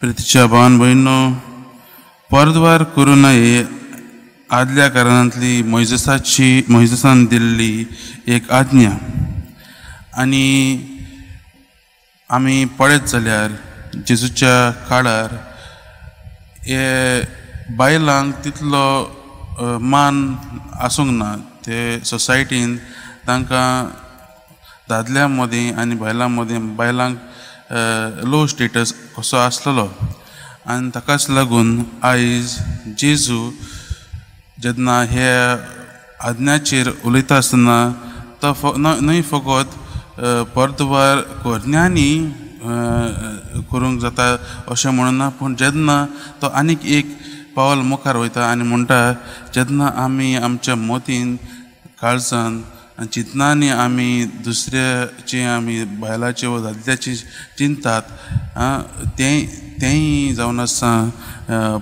प्रितीच्या भावान भयणो, परद्वार करूं नये आदल्या कारणांतली मोयजेसान दिल्ली एक आज्ञा. आनी आमी पळयत जाल्यार जेजूच्या काळार हे बायलांक तितलो मान आसूंक ना. ते सोसायटीन तांकां दादल्यां मदीं आनी बायलां मदीं बायलांक लो स्टेटस कसो आसलेलो. आनी ताकाच लागून आयज जेजू जेन्ना हे आज्ञाचेर उलयता आसतना तो न्हय फकत परद्वार करण्यांनी करूंक जाता अशें म्हणना, पूण जेन्ना तो आनीक एक पावल मुखार वयता आनी म्हणटा जेन्ना आमी आमच्या मतीन काळजान आनी चिंतनांनी आमी दुसऱ्याचे आमी बायलाचे वा दादल्याचे चिंतात तेंय जावन आसा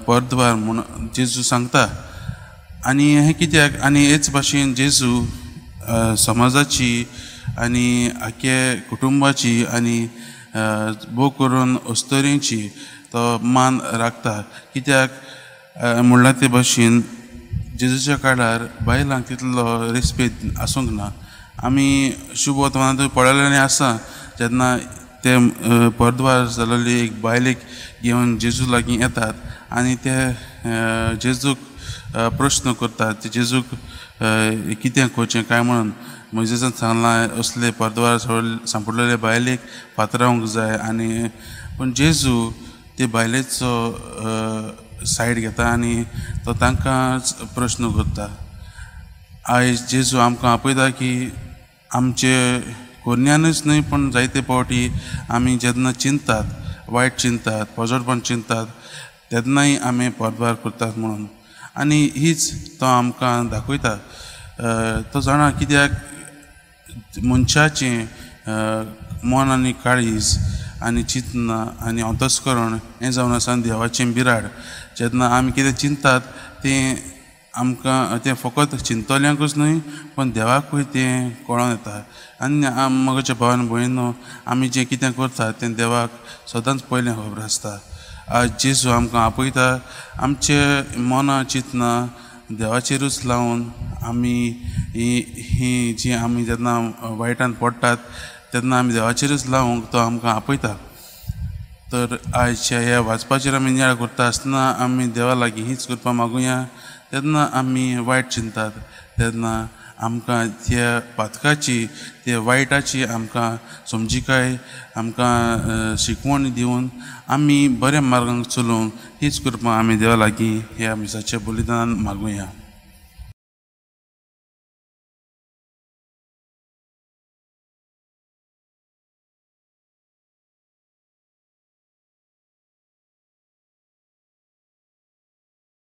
परद्वार म्हूण जेजू सांगता. आनी हें कित्याक आनी हेच भाशेन जेजू समाजाची आनी आख्या कुटुंबाची आनी भोव करून अस्तोरेची तो मान राखता. कित्याक म्हणलां ते भाशेन जेजूच्या काळार बायलांक तितलो रेस्पेद आसूंक ना. आमी शुभ वर्तमानांत पळयलेलें आसा जेन्ना ते परद्वार जाल्ली एक बायलेक घेवन जेजू लागीं येतात आनी ते जेजूक प्रश्न करतात, ते जेजूक कितें करचें काय म्हणून मोयजेसान सांगलां असले परद्वार सांपडलेले बायलेक फातरावंक जाय. आनी पूण जेजू ते बायलेचो सायड घेता आनी तो तांकांच प्रश्न करता. आयज जेजू आमकां आपयता की आमचे कोन्यानूच न्हय पूण जायते फावटी आमी जेन्ना चिंतात, वायट चिंतात, पोजडपण चिंतात तेन्नाय आमी परद्वार करतात म्हणून. आनी हीच तो आमकां दाखयता. तो जाणा कित्याक मनशाचें मन आनी काळीज आनी चिंतना आनी अंतस्करण हें जावन आसा देवाचें बिराड. जेन्ना आमी कितें चिंतात तें आमकां तें फकत चिंतल्यांकूच न्हय पूण देवाकूय तें कळोन येता. आनी म्हज्या भावान भयणीनो, आमी जें कितें करतात तें देवाक सदांच पयलें खबर आसता. आज जेजू आमकां आपयता आमचे मनां चिंतना देवाचेरूच लावन आमी ही जी आमी जेन्ना वायटान पडटात तेन्ना आमी देवाचेरूच लावंक तो आमकां आपयता. तर आयच्या ह्या वाचपाचेर आमी नियाळ करता आसतना आमी देवा लागीं हीच करपा मागुया. तेन्ना आमी वायट चिंतात तेन्ना आमकां त्या पातकाची त्या वायटाची आमकां समजिकाय आमकां शिकवण दिवन आमी बऱ्या मार्गांक चलोवंक हीच कृपा आमी देवा लागीं ह्या मिसाच्या बलिदानान मागुया.